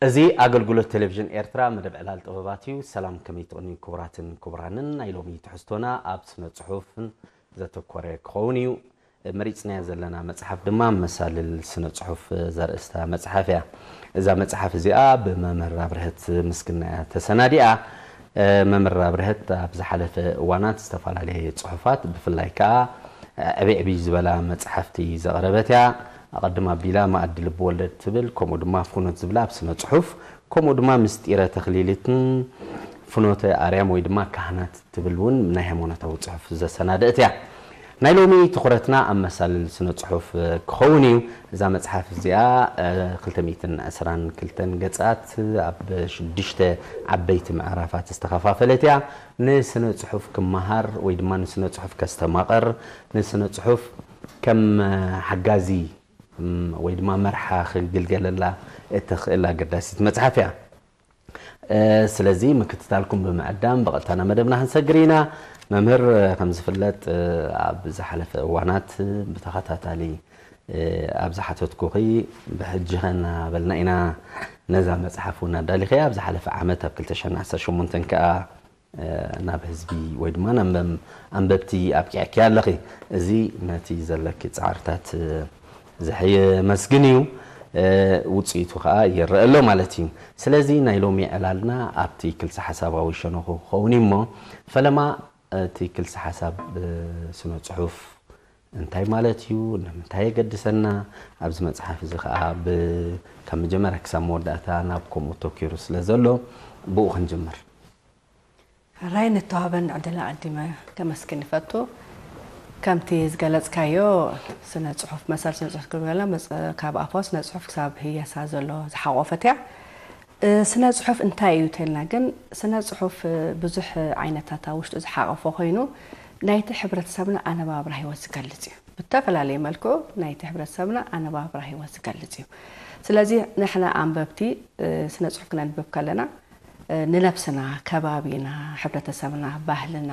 እዚ ኣገልግሎት ቴሌቪዥን ኤርትራ መደብ ዕላል ጥበባት እዩ። ሰላም፣ ከመይ ትቕንዩ ክቡራትን ክቡራንን? ናይ ሎሚ ትሕዝቶና ኣብ ስነ ጽሑፍን ዘተኮረ ክኸውን እዩ። መሪጽናያ ዘለና መጽሓፍ ድማ መሳልል ስነ ጽሑፍ ዘርእስታ መጽሓፍ እያ። እዛ መጽሓፍ እዚኣ ብመምህር ኣብርሀት ምስግና እያ ተሰናዲኣ። መምህር ኣብርሀት ኣብ ዝሓለፈ እዋናት ዝተፈላለየ ጽሑፋት፣ ብፍላይ ከኣ ዕብይ ዕብይ ዝበላ መጽሓፍቲ ዘቕረበት እያ። ኣቐድም ኣቢላ መኣዲ ልቢ ወለድ ትብል፣ ከምኡ ድማ ፍኖት ዝብላ ኣብ ስነ ጽሑፍ፣ ከምኡ ድማ ምስጢረ ተኽሊልትን ፍኖተ ኣርያም ወይ ድማ ካህናት ትብል እውን ናይ ሃይማኖታዊ ጽሑፍ ዘሰናደእት እያ። ናይ ሎሚ ትኹረትና ኣብ መሳልል ስነ ጽሑፍ ክኸውን እዩ። እዛ መጽሓፍ እዚኣ ክልተ ሚእትን ዕስራን ክልተን ገጻት ኣብ ሽዱሽተ ዓበይቲ ምዕራፋት ዝተኸፋፈለት እያ። ንስነ ጽሑፍ ክመሃር ወይ ድማ ንስነ ጽሑፍ ከስተማቕር፣ ንስነ ጽሑፍ ከም ሓጋዚ ወይ ድማ መርሓ ክግልገለላ እትኽእል ኣገዳሲት መጽሓፍ እያ። ስለዚ ምክትታልኩም ብምዕዳም ብቐጥታ ናብ መደብና ክንሰግር ኢና። መምህር፣ ከም ዝፍለጥ ኣብ ዝሓለፈ እዋናት ብተኸታታሊ ኣብ ዝሓተትኩኺ፣ ብሕጂ ኸ እናበልና ኢና ነዛ መጽሓፍ እውን ኣዳሊኸያ። ኣብ ዝሓለፈ ዓመት ኣብ ክልተ ሽሕን ዓሰርተ ሸሞንተን ከኣ ናብ ህዝቢ ወይ ድማ ናብ ኣንበብቲ ኣብቂዕኪ ኣለኺ። እዚ ነቲ ዘለኪ ጻዕርታት ዘየመስግን እዩ። ውጽኢቱ ኸኣ ይረአ ኣሎ ማለት እዩ። ስለዚ ናይ ሎሚ ዕላልና ኣብቲ ክልሰ ሓሳባዊ ሸነኹ ክኸውን እዩ እሞ፣ ፈለማ እቲ ክልሰ ሓሳብ ስነ ጽሑፍ እንታይ ማለት እዩ? ንምንታይ የገድሰና? ኣብዚ መጽሓፍ እዚ ኸኣ ብ-፣ ካብ መጀመርያ ክሳብ መወዳእታ ናብ ከምኡ ተኪሩ ስለ ዘሎ፣ ብኡ ክንጅምር። ሕራይ ንተዋህበኒ ዕድል ኣቐዲመ ከመስግን ይፈቱ። ከምቲ ዝገለጽካዮ፣ ስነ ጽሑፍ፣ መሰል ስነ ጽሑፍ ክብል ከለና፣ መጽ-፣ ካብ ኣፋዊ ስነ ጽሑፍ ክሳብ ህየሳ ዘሎ ዝሓቖፈት እያ። እ፣ ስነ ጽሑፍ እንታይ እዩ ተልና ግን፣ ስነ ጽሑፍ፣ እ፣ ብዙሕ ዓይነታት ኣብ ውሽጡ ዝሓቐፎ ኮይኑ፣ ናይቲ ሕብረተሰብና ኣነባብራ ህይወት ዝገልጽ እዩ። ብተፈላለየ መልክዑ ናይቲ ሕብረተሰብና ኣነባብራ ህይወት ዝገልጽ እዩ። ስለዚ ንሕና ኣንበብቲ፣ እ፣ ስነ ጽሑፍ ክነንብብ ከለና፣ እ፣ ንነብስና፣ ከባቢና፣ ሕብረተሰብና፣ ባህልና፣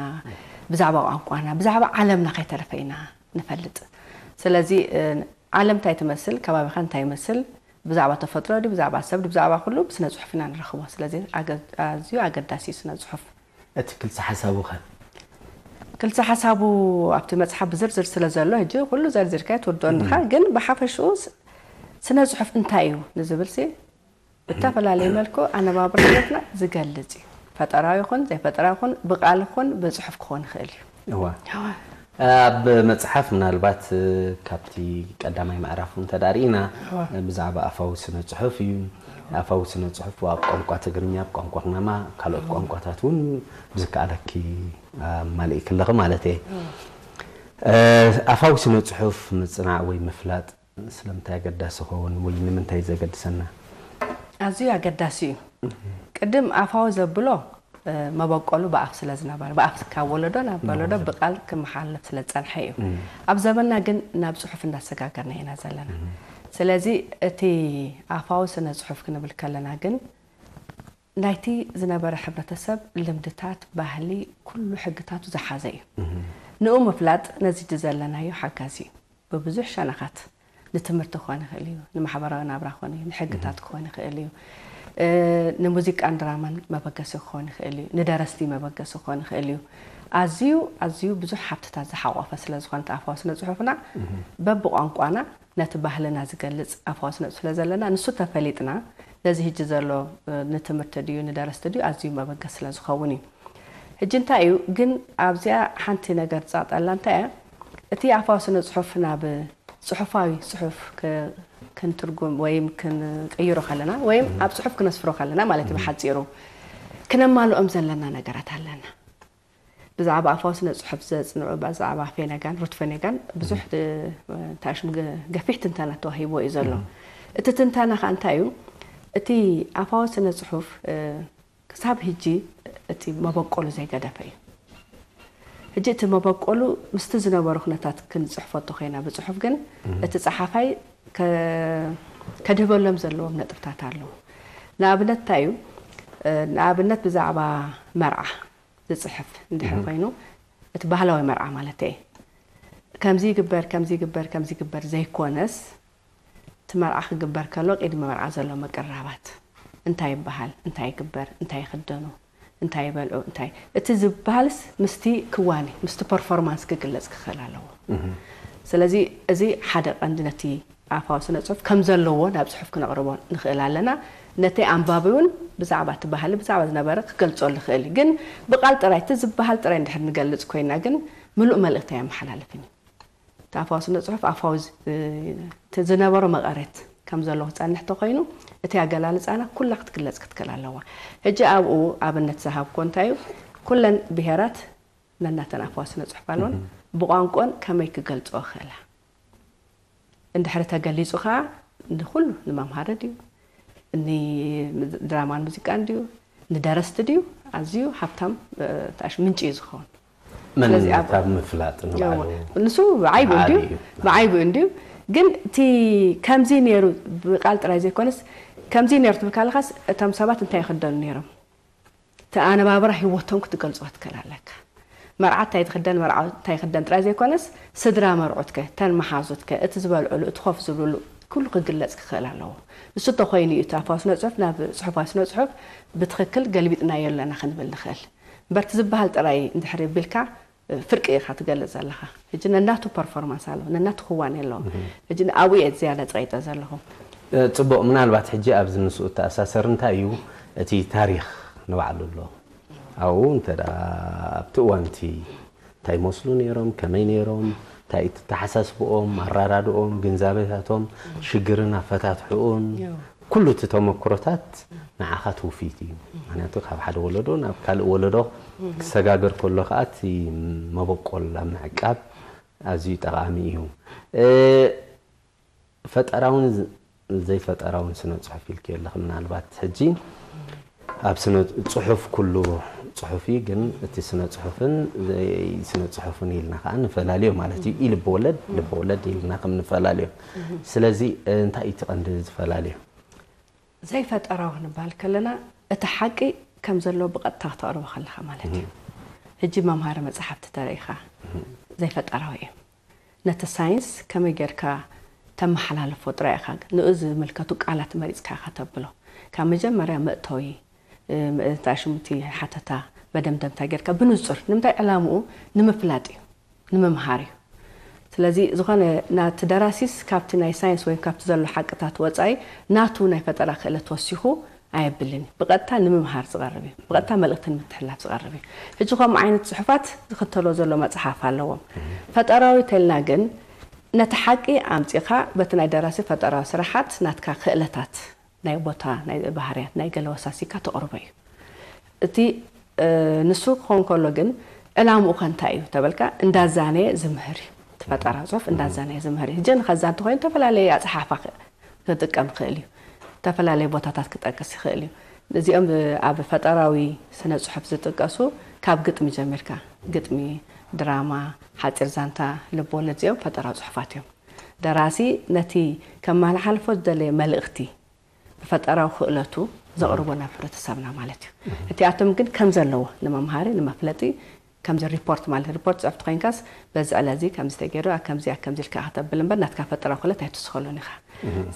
ብዛዕባ ቋንቋና፣ ብዛዕባ ዓለምና ከይተረፈ ኢና ንፈልጥ። ስለዚ፣ እ፣ ዓለም እንታይ ትመስል፣ ከባቢኻ እንታይ ይመስል፣ ብዛዕባ ተፈጥሮ ድዩ፣ ብዛዕባ ሰብ ድዩ፣ ብዛዕባ ኩሉ ብስነ ጽሑፍ ኢና ንረኽቦ። ስለዚ ኣገ-፣ ኣዝዩ ኣገዳሲ እዩ ስነ ጽሑፍ። እቲ ክልሰ ሓሳቡ ኸ? ክልሰ ሓሳቡ ኣብቲ መጽሓፍ ብዝርዝር ስለ ዘሎ፣ ሕጂ ኩሉ ዘርዚርካ ኣይትወድኦን ኢኻ፣ እም። ግን ብሓፈሽኡ ስ-፣ ስነ ጽሑፍ እንታይ እዩ ንዝብል ሲ፣ ብተፈላለየ መልክዑ ኣነባብራ ህይወትና ዝገልጽ እዩ። ፈጠራዊ ይኹን ዘይፈጠራዊ ይኹን፣ ብቓል ይኹን ብጽሑፍ ክኾን ይኽእል እዩ። እዋ። እዋ። ኣብ መጽሓፍ ምናልባት፣ እ፣ ካብቲ ቀዳማይ ምዕራፍ እውን ተዳሪእና፣ እዋ። ብዛዕባ ኣፋዊ ስነ ጽሑፍ እዩ። ኣፋዊ ስነ ጽሑፍ ኣብ ቋንቋ ትግርኛ፣ ኣብ ቋንቋ ኩናማ፣ ካልኦት እዋ። ቋንቋታት እውን ብዝከኣለኪ ኣማሊእኪ ኣለኺ ማለት እየ። እዋ። እ፣ ኣፋዊ ስነ ጽሑፍ ምጽናዕ ወይ ምፍላጥ ስለምንታይ ኣገዳሲ ይኸውን ወይ ንምንታይ ዘገድሰና? ኣዝዩ ኣገዳሲ እዩ። እህ። ቅድም ኣፋዊ ዘብሎ፣ እ፣ መበቆሉ ብኣፍ ስለ ዝነበረ፣ ብኣፍ ካብ ወለዶ ናብ ወለዶ ወለዶ። ብቓል ክመሓለፍ ስለ ዝጸንሐ እዩ። እህ። ኣብ ዘመንና ግን ናብ ጽሑፍ እንዳሰጋገርና ኢና ዘለና። እህ። ስለዚ እቲ ኣፋዊ ስነ ጽሑፍ ክንብል ከለና ግን ናይቲ ዝነበረ ሕብረተሰብ ልምድታት፣ ባህሊ፣ ኩሉ ሕግታቱ ዝሓዘ እዩ። እህ። ንኡ ምፍላጥ ነዚ ዘለናዮ ሓጋዚ እዩ። ብብዙሕ ሸነኻት፣ ንትምህርቲ ክኾን ይኽእል እዩ፣ ንማሕበራዊ ናብራ ክኾን እዩ፣ ንሕግታት እህ። ክኾን ይኽእል እዩ፣ እ፣ ንሙዚቃን ድራማን መበገሲ ክኾን ይኽእል እዩ፣ ንደረስቲ መበገሲ ክኾን ይኽእል እዩ። ኣዝዩ፣ ኣዝዩ ብዙሕ ሃብትታት ዝሓቖፈ ስለ ዝኾነ እቲ ኣፋዊ ስነ ጽሑፍና፣ እህ። በብቋንቋና ነቲ ባህልና ዝገልጽ ኣፋዊ ስነ ጽሑፍ ስለ ዘለና፣ ንሱ ተፈሊጥና፣ ነዚ ሕጂ ዘሎ፣ እ፣ ንትምህርቲ ድዩ፣ ንደረስቲ ድዩ፣ ኣዝዩ መበገሲ ስለ ዝኸውን እዩ። ሕጂ እንታይ እዩ ግን ኣብዚኣ ሓንቲ ነገር ትጻጠላ እንታይ እያ? እቲ ኣፋዊ ስነ ጽሑፍ ናብ ጽሑፋዊ ጽሑፍ ክ-፣ ክንትርጉም ወይም ክንቅይሮ ከለና ወይም እም። ኣብ ጽሑፍ ክነስፍሮ ከለና ማለት እዩ እም። ብሓጺሩ ክነማልኦም ዘለና ነገራት ኣለና። ብዛዕባ ኣፋዊ ስነ ጽሑፍ ዘጽንዑ ብዛዕባ ፌነጋን፣ ሩት ፌነጋን ብዙሕ እም። ድ-፣ እንታይ ሽሙ ገ-፣ ገፊሕ ትንተና ተዋሂብዎ እዩ ዘሎ። እም። እቲ ትንተና ከኣ እንታይ እዩ? እቲ ኣፋዊ ስነ ጽሑፍ፣ እ፣ ክሳብ ሕጂ እቲ መበቆሉ ዘይገደፈ እዩ። ሕጂ እቲ መበቆሉ ምስቲ ዝነበሩ ኩነታት ክንጽሕፎ እንተኾይና ብጽሑፍ ግን እህ። እቲ ጸሓፋይ ከ-፣ ከድህበሎም ዘለዎም ነጥብታት ኣለዉ። ንኣብነት እንታይ እዩ? እ፣ ንኣብነት ብዛዕባ መርዓ ዝጽሕፍ እንድሕር እህ። ኮይኑ፣ እቲ ባህላዊ መርዓ ማለት እየ። ከምዚ ይግበር፣ ከምዚ ይግበር፣ ከምዚ ይግበር ዘይኮነስ፣ እቲ መርዓ ክግበር ከሎ ቅድሚ መርዓ ዘሎ ምቅርራባት፣ እንታይ ይበሃል፣ እንታይ ይግበር፣ እንታይ ይኽደኑ፣ እንታይ ይበልዑ፣ እንታይ፣ እቲ ዝበሃልስ ምስቲ ክዋኒ፣ ምስቲ ፐርፎርማንስ ክግለጽ ክኽእል ኣለዎ። ስለዚ እዚ ሓደ ቀንዲ ነቲ ኣፋዊ ስነ ጽሑፍ ከም ዘለዎ ናብ ጽሑፍ ክነቕርቦ ንኽእል ኣለና። ነቲ ኣንባቢ እውን ብዛዕባ እቲ ባህሊ፣ ብዛዕባ ዝነበረ ክገልጸሉ ይኽእል እዩ። ግን ብቓል ጥራይ፣ እቲ ዝበሃል ጥራይ እንድሕር ንገልጽ ኮይና ግን ምሉእ መልእኽቲ ኣየመሓላልፍን እዩ። እቲ ኣፋዊ ስነ ጽሑፍ ኣፋዊ ዝ-፣ እቲ ዝነበሮ መቐረት ከም ዘሎ ክጸንሕ ተኾይኑ፣ እቲ ኣገላልጻና ኩላ ክትግለጽ ክትክእል ኣለዋ። ሕጂ ኣብኡ ኣብነት ዝሃብኮ እንታይ እዩ? ኩለን ብሄራት ነናተን ኣፋዊ ስነ ጽሑፍ ኣለወን። ብቋንቋን ከመይ ክገልጽኦ ክኽእላ? እንድሕሪ ተገሊጹ ኸኣ ንኹሉ ንመምሃሪ ድዩ፣ ንድራማን ሙዚቃን ድዩ፣ ንደረስቲ ድዩ፣ ኣዝዩ ሃብታም፣ እ፣ ታሽ ምንጪ እዩ ዝኸውን። ስለዚ ኣብ መንነት ኣብ ምፍላጥ ንባዕሉ ንሱ ብዓይቡ እንድዩ፣ ብዓቢ እዩ። ብዓይቡ እንድዩ። ግን እቲ ከምዚ ነይሩ ብቃል ጥራይ ዘይኮነስ፣ ከምዚ ነይሩ ትብል ካለኻስ፣ እቶም ሰባት እንታይ ይኽደኑ ነይሮም? እቲ ኣነባብራ ህይወቶም ክትገልጾ ክትክእል ኣለካ። መርዓ እንታይ ትኽደን፣ መርዓ እንታይ ይኽደን ጥራይ ዘይኮነስ፣ ስድራ መርዑትከ፣ እተን መሓዙትከ፣ እቲ ዝበልዕሉ፣ እቲ ኮፍ ዝብልሉ፣ ኩሉ ክግለጽ ክኽእል ኣለዎ። ንሱ እንተኾይኑ እዩ እቲ ኣፋዊ ስነ ጽሑፍ ናብ ጽሑፋዊ ስነ ጽሑፍ ብትኽክል ገልቢጥናዮ ኣለና ክንብል ንኽእል። እምበር እቲ ዝበሃል ጥራይ እንድሕር ቢልካ፣ ፍርቂ ኢኻ ትገልጽ ዘለኻ። ሕጂ ነናቱ ፐርፎርማንስ ኣለዎ፣ ነናቱ ክዋኔ ኣለዎ። ሕጂ ኣብኡ እየ ዝያዳ ጸቒጠ ዘለኹ። እ፣ ጽቡቕ፣ ምናልባት ሕጂ ኣብዚ ምስኡ እተኣሳሰር እንታይ እዩ፣ እቲ ታሪኽ ንባዕሉ ኣሎ። ኣብኡ እንተ ደኣ ኣብቲ እዋን እቲ እንታይ ይመስሉ ነይሮም፣ ከመይ ነይሮም፣ እንታይ እቲ ኣተሓሳስብኦም፣ ኣራዳድኦም፣ ግንዛቤታቶም፣ ሽግርን ኣፈታትሕኡን፣ ያው። ኩሉ እቲ ተመክሮታት ንዓኻ ትውፊት እዩ። ምኽንያቱ ካብ ሓደ ወለዶ ናብ ካልእ ወለዶ ክሰጋገር ከሎ ኸኣ እቲ መበቆል ኣብ ምዕቃብ ኣዝዩ ጠቓሚ እዩ። እ፣ ፈጠራውን ዝ-፣ ዘይፈጠራውን ስነ ጽሑፍ ኢልኪ ኣለኺ። ምናልባት ሕጂ ኣብ ስነ ጽሑፍ ኩሉ ጽሑፍ እዩ፣ ግን እቲ ስነ ጽሑፍን ዘይ ስነ ጽሑፍን ኢልና ኸኣ ንፈላልዮ ማለት እዩ። ኢ ልብ ወለድ፣ ልብ ወለድ ኢልና ከም ንፈላልዮ። ስለዚ እንታይ እዩ እቲ ቀንዲ ዝፈላልዮ? ዘይፈጠራዊ ክንበሃል ከለና፣ እቲ ሓቂ ከም ዘሎ ብቐጥታ ክተቕርቦ ከለኻ ማለት እዩ። ሕጂ መምሃሪ መጽሓፍቲ ተረኢኻ ዘይፈጠራዊ እዩ። ነቲ ሳይንስ ከመይ ጌርካ ተመሓላልፎ ጥራይ ኢኻ፣ ንኡ ዝምልከቱ ቃላት መሪጽካ ኢኻ ተብሎ። ካብ መጀመርያ መእተዊ፣ እ፣ እንታይ ሽሙ እቲ ሓተታ መደምደምታ ጌርካ ብንጹር፣ ንምንታይ ዕላምኡ ንምፍላጥ እዩ። ንምምሃር እዩ። ስለዚ ዝኾነ ናቲ ደራሲስ ካብቲ ናይ ሳይንስ ወይ ካብቲ ዘሎ ሓቅታት ወጻኢ ናቱ ናይ ፈጠራ ክእለት ወሲኹ ኣየብልን እዩ። ብቐጥታ ንምምሃር ዝቐርብ እዩ። ብቐጥታ መልእኽቲ ንምትሕልላፍ ዝቐርብ እዩ። ሕጂ ከምኡ ዓይነት ጽሑፋት ዝኽተሎ ዘሎ መጽሓፍ ኣለዎም። ፈጠራዊ ተልና ግን ነቲ ሓቂ ኣምጺኻ በቲ ናይ ደራሲ ፈጠራዊ ስራሓት ናትካ ክእለታት ናይ ቦታ፣ ናይ ባህርያት፣ ናይ ገለ ወሳሲካ ተቕርቦ እዩ። እቲ፣ እ፣ ንሱ ክኸውን ከሎ ግን ዕላምኡ ከ እንታይ እዩ ተበልካ፣ እንዳዛነየ ዝምህር እዩ። እቲ ፈጠራ ጽሑፍ እንዳዛነየ ዝምህር እዩ። ሕጂ ንኸዛ እንተኾይኑ ዝተፈላለየ ኣጸሓሕፋ ክ-፣ ክጥቀም ይኽእል እዩ። ዝተፈላለየ ቦታታት ክጠቅስ ይኽእል እዩ። እዚኦም ብ-፣ ኣብ ፈጠራዊ ስነ ጽሑፍ ዝጥቀሱ ካብ ግጥሚ ጀሚርካ፣ ግጥሚ፣ ድራማ፣ ሓጺር ዛንታ፣ ልብ ወለድ፣ እዚኦም ፈጠራዊ ጽሑፋት እዮም። ደራሲ ነቲ ከመሓላልፎ ዝደለየ መልእኽቲ ብፈጠራዊ ክእለቱ ዘቕርቦ ናብ ሕብረተሰብና ማለት እዩ። እቲኣቶም ግን ከም ዘለዎ ንመምሃሪ፣ ንመፍለጢ፣ ከምዚ ሪፖርት ማለት ሪፖርት ጽሑፍ ተኾይንካስ በዚ ዕለ እዚ ከምዚ ተገይሩ፣ ኣብ ከምዚ፣ ኣብ ከምዚ ኢልካ ኢኻ ተብል እምበር ናትካ ፈጠራዊ ክእለት ኣይትውስኸሉን ኢኻ።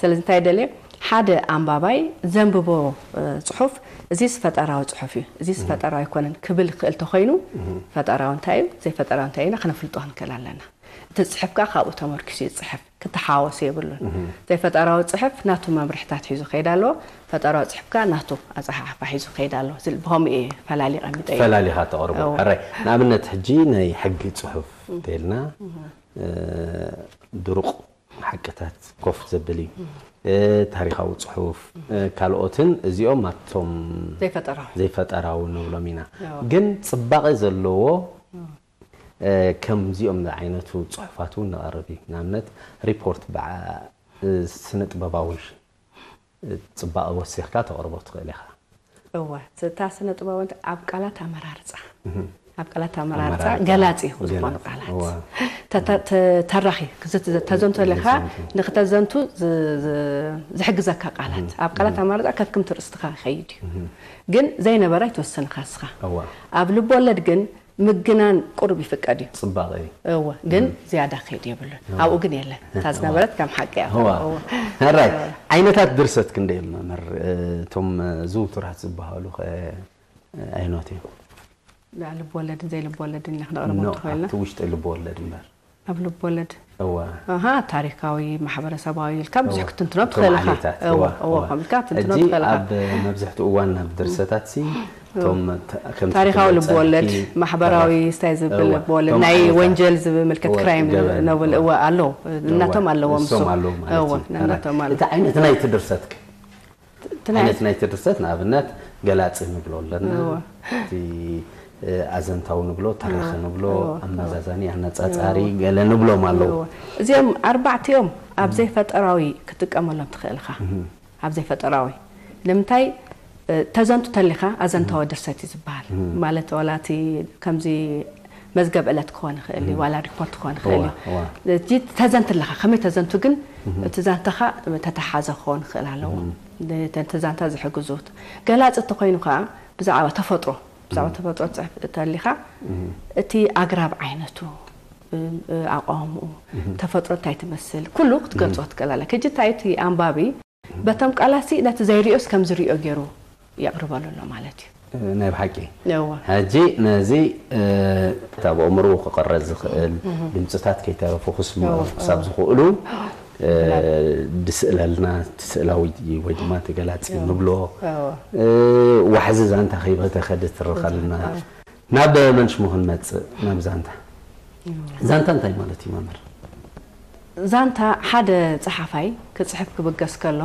ስለዚ እንታይ ደልየ፣ ሓደ ኣንባባይ ዘንብቦ፣ እ፣ ጽሑፍ እዚስ ፈጠራዊ ጽሑፍ እዩ፣ እዚስ ፈጠራዊ ኣይኮነን ክብል ክእል ተኾይኑ፣ ፈጠራዊ እንታይ እዩ፣ ዘይፈጠራዊ እንታይ እዩ ኢልና ከነፍልጦ ክንክእል ኣለና። እቲ ጽሑፍ ከኣ ካብኡ ተመርኪሱ እዩ ዝጽሕፍ፣ ክተሓዋወስ የብሉን። ዘይፈጠራዊ ጽሑፍ ናቱ መምርሕታት ሒዙ ከይድ ኣለዎ፣ ፈጠራዊ ጽሑፍ ከኣ ናቱ ኣጸሓሕፋ ሒዙ ከይድ ኣለዎ። ስል-፣ ብኸምኡ እየ ፈላሊ ቀሚጠ እየ። ፈላሊኻ ተቕርቦ። እወ። ሕራይ፣ ንኣብነት ሕጂ ናይ ሕጊ ጽሑፍ እንተኢልና፣ እ፣ ድሩቕ ሓቅታት ኮፍ ዘብል እዩ። እ፣ ታሪኻዊ ጽሑፍ፣ እ፣ ካልኦትን እዚኦም ኣብቶም ዘይፈጠራዊ። ዘይፈጠራዊ ንብሎም ኢና። እወ። ግን ጽባቐ ዘለዎ እ፣ ከምዚኦም ዝዓይነቱ ጽሑፋት እውን ነቕርብ እዩ። ንኣብነት ሪፖርት ብዓ-፣ እ፣ ስነ ጥበባዊ፣ እ፣ ጽባቐ ወሲኽካ ተቕርቦ ትኽእል ኢኻ። እወ፣ እታ ስነ ጥበባዊ እንተ-፣ ኣብ ቃላት ኣመራርጻ፣ ኣብ ቃላት ኣመራርጻ ኣመራርጻ፣ ገላጺ ዝኾኑ ገላጺ፣ ቃላት። እወ። ተ-፣ ተ-፣ ተ-፣ ተራኺ፣ ክዝት-፣ ተዘንቶ ኣለኻ፣ ተዘንቶ። ንኽተዘንቱ ዝ-፣ ዝ-፣ ዝሕግዘካ ቃላት። ኣብ ቃላት ኣመራርጻ ከክም ትርእስትኻ ይኸይድ እዩ። ግን ዘይነበረ ኣይትወስንኻ ንስኻ። እወ። ኣብ ልብ ወለድ ግን ምግናን ቁሩብ ይፍቀድ እዩ። ጽባቐ እዩ። እወ፣ ግን ዝያዳ ከይድ የብሉን። ኣብኡ ግን የለን። እታ ዝነበረት ከም ሓቂ እያ። እዋ። እወ። ሕራይ ዓይነታት ድርሰት ክንደይ እዮም መምህር? እቶም ዝውቱራት ዝበሃሉ ከ ኣይኖት እዮም? ልብ ወለድን ዘይልብ ወለድን ኢና ክነቕርቦም ኖ፣ ትኽእልና። ኣብቲ ውሽጢ ልብ ወለድ እምበር። ኣብ ልብ ወለድ እዋ። ኣሃ፣ ታሪካዊ፣ ማሕበረሰባዊ ኢልካ ብዙሕ እዋ። ክትንትኖ እቶም ትኽእል ኢኻ። ዓሌታት፣ እወ፣ እዋ፣ እወ፣ እዋ። ከምልካ ክትንትኖ ሕጂ ትኽእል ኢኻ። ኣብ መብዝሕትኡ እዋን ኣብ ድርሰታት ሲ እቶም ተ- ከምቲ ታሪካዊ ትብሎ ልብ ወለድ፣ ጸሓፍቲ ማሕበራዊ ሰባት፣ ስታይ ዝብል እወ፣ ልብ ወለድ፣ እቶም ናይ ዓይነታት፣ ወንጀል ዝብል ምልክት እወ፣ ክራይም ገበን፣ ነብል እወ። እወ ኣለዉ። እናቶም ኣለዎም እሶም እሱ። ኣለዉ ማለት እወ፣ እዩ። እናቶም ኣለዉ። እቲ ዓይነት ናይ ትድርሰትክ ትናይ- ዓይነት ናይ ትድርሰት ንኣብነት ገላጺ ንብሎ ኣለና። እወ። እቲ እ፣ ኣዘንታዊ ንብሎ፣ ተራኺ እወ፣ ንብሎ፣ እወ፣ ኣመዛዛኒ፣ ኣነጻጻሪ ገለ ንብሎም ኣለዉ። እወ። እዚኦም ኣርባዕቲኦም ኣብ ዘይፈጠራዊ ክትጥቀመሎም ትኽእል ኢኻ። ኣብ ዘይፈጠራዊ ንምንታይ እ፣ ተዘንቱ ተሊኻ ኣዘንታዊ ድርሰት እዩ ዝበሃል። ማለት ዋላ እቲ ከምዚ መዝገብ ዕለት ክኾን ይኽእል እዩ፣ ዋላ ሪፖርት ክኾን ይኽእል እዩ። እዋ፣ እዋ። እቲ ተዘንት ኣለኻ፣ ከመይ ተዘንቱ ግን እቲ ዛንታኻ ተተሓዘ ክኸውን ይኽእል ኣለዎ። ነቲ ዛንታ ዝሕግዙ። ገላፂ እንተኾይኑ ከዓ ብዛዕባ ተፈጥሮ፣ ብዛዕባ ተፈጥሮ ትፅሕፍ እንተሊኻ እቲ ኣግራብ ዓይነቱ፣ እ፣ እ፣ ኣቃውምኡ፣ ተፈጥሮ እንታይ ትመስል፣ ኩሉ ክትገልፆ ትኽእል ኣለካ። ሕጂ እንታይ እቲ ኣንባቢ በቶም ቃላሲ ነቲ ዘይሪኦስ ከም ዝሪኦ ገይሩ የቕርበሉ ኣሎ ማለት እዩ። ናይ ብሓቂ እወ። ሕጂ ነዚ እ፣ ካብ ኣእምሮ ክቐረጽ ዝኽእል ድምፅታት ከይተረፉ ክስምዑ እወ፣ ክሳብ ዝኽእሉ እ፣ ድስእለልና እቲ ስእላዊ ወይ ድማ ተገላጺ ንብሎ እወ። እ፣ ዋሕዚ ዛንታ ከይበተኸ ድትርኸልና ናብ መን ሽሙ ክንመጽእ ናብ ዛንታ ዛንታ እንታይ ማለት እዩ መምህር? ዛንታ ሓደ ጸሓፋይ ክጽሕፍ ክብገስ ከሎ